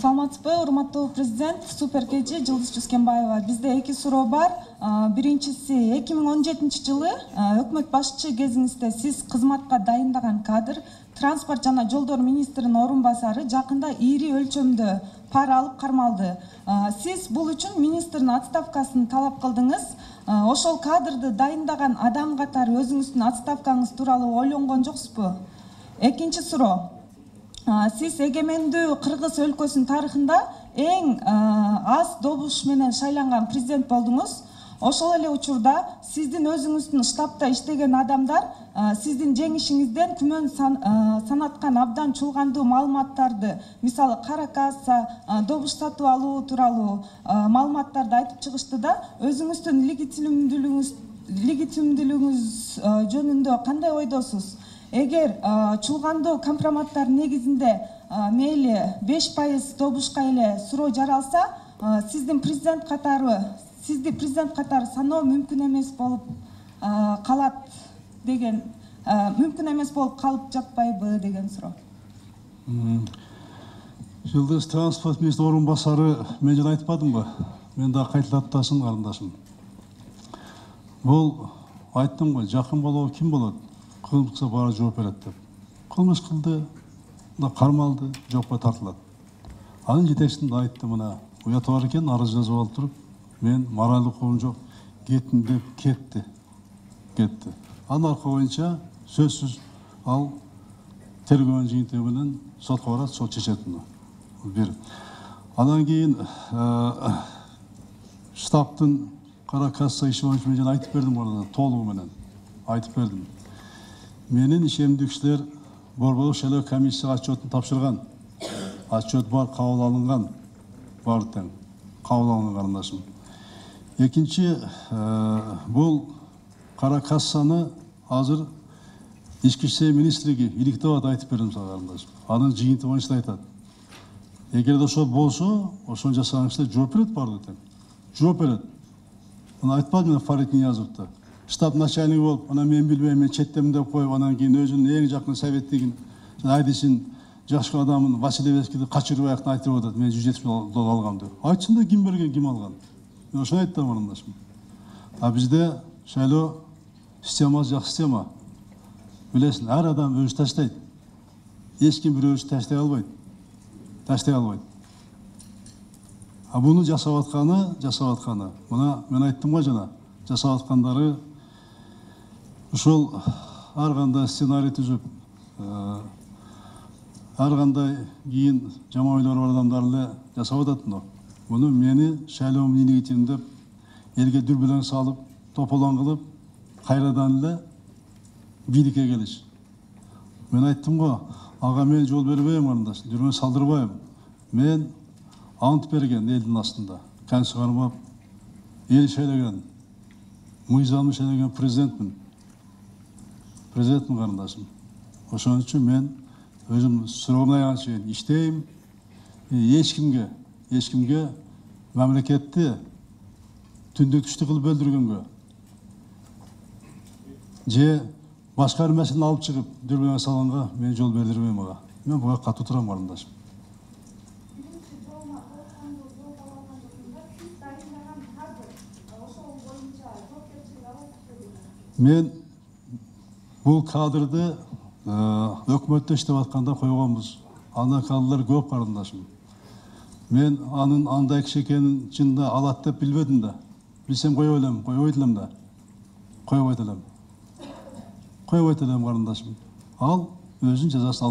Саламатсызбы, урматтуу президент, супер кечи Жылдыз Жүскенбаева. Бизде эки суроо бар. Биринчиси, 2017 жылы өкмөт башчы кезиңизде сиз кызматка дайындаган кадр, транспорт жана жолдор министринин орун басары жакында ири өлчөмдө пара алып кармалды. Сиз бул үчүн министрдин отставкасын талап кылдыңыз. Ошол кадрды дайындаган адам катары өзүңүздүн отставкаңыз тууралуу ойлонгон жоксузбу? Экинчи суроо. Сиз эгемендүү Кыргыз өлкөсүнүн тарыхында эң аз добуш менен шайланган президент болдуңуз. Ошол эле учурда сиздин өзүңүздүн штабта иштеген адамдар сиздин жеңишиңизден күмөн санаткан абдан чулгандуу маалыматтарды, мисалы кара касса, добуш сатып алуу тууралуу маалыматтарды айтып чыгышты да, өзүңүздүн легитимдүүлүгүңүз жөнүндө кандай ойдосуз? Эгер чулгандуу компроматтар негизинде мейли 5% добушка эле суроо жаралса, сизди президент катары саноо мүмкүн эмес болуп калат деген, мүмкүн эмес болуп калып жатпайбы деген суроо. Жылдыз транспорт министринин орун басары мен жана айтпадымбы? Мен да кайталап атасың карындашым. Бул айттым го, жакын болобу ким болот? Кылмыш кылса баары жооп берет деп. Кылмыш кылды, кармалды, жоопко тартылат. Анын жетекчисин айттым, мына уяты бар экен, арыз жазып алып туруп, мен моралдык укугум жок, кеттим деп кетти. Анын аркы боюнча сөзсүз ал тергөөнүн жыйынтыгы менен сотко барат, сот чечет муну. Бир. Андан кийин штабтын кара касса иши боюнча мен жана айтып бердим, ордон толугу менен айтып бердим. Менин ишемдүү кишилер борбордук шайлоо комиссияга отчетун тапшырган. Отчет бар, кабыл алынган. Бар тең. Кабыл алынган карындашым. Экинчи, бул кара кассаны азыр ички иштер министрлиги иликтеп атат, айтып бердим сага карындашым. Анын жыйынтыгы боюнча айтат. Эгерде ошол болсо, ошону жасаган кишилер жооп берет баардыгы тең. Жооп берет. Мына айтпадым мен Фарид Ниязовду. Штаб начальниги болуп, анан мен билбейм, мен четтемин деп коюп, анан кийин өзүнүн эң жакын советтигин, айдисин, жакшы адамын Василевскийди качырбай айтып атат, мен $170 алгам деп. Айтсын да, ким берген, ким алган. Мен ошону айттым карындашым. А бизде шайлоо системасы жакшы система. Билесиң, ар адам өзү таштайт. Эч ким бирөөсү таштай албайт. А буну жасап атканы. Мына мен айттым го жана, жасап аткандары ушул ар кандай сценарий түзүп, ар кандай кийин жаман ойлору бар адамдар эле жасап атат муну. Буну мени шайлоом илигитим деп элге дүрбөлөң салып, тополоң кылып, кайрадан эле бийликке келиш. Мен айттым го, ага мен жол бербейм карындаш, жүрмө салдырбайм. Мен ант берген элдин астында, кан чыгармап, эл шайлаған, мыйзамды шайлаған президентмин карындашым. Ошон үчүн мен өзүм суроомун аягына чейин иштейм. Эч кимге мамлекетти түндүк түштүк кылып бөлдүргөнгө же башка бир маселени алып чыгып дүрбөлөң салганга мен жол бердирбейм ага. Мен буга катуу турам карындашым. Мен бул кадрды өкмөттө иштеп атканда койгонбуз. Анда кадрлар көп карындашым. Мен анын андай киши экенин чынында алат деп билбедим да. Билсем койбойт элем карындашым. Ал өзүнүн жазасын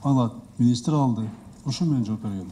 алат. Министр алды. Ушу мен жооп бергем.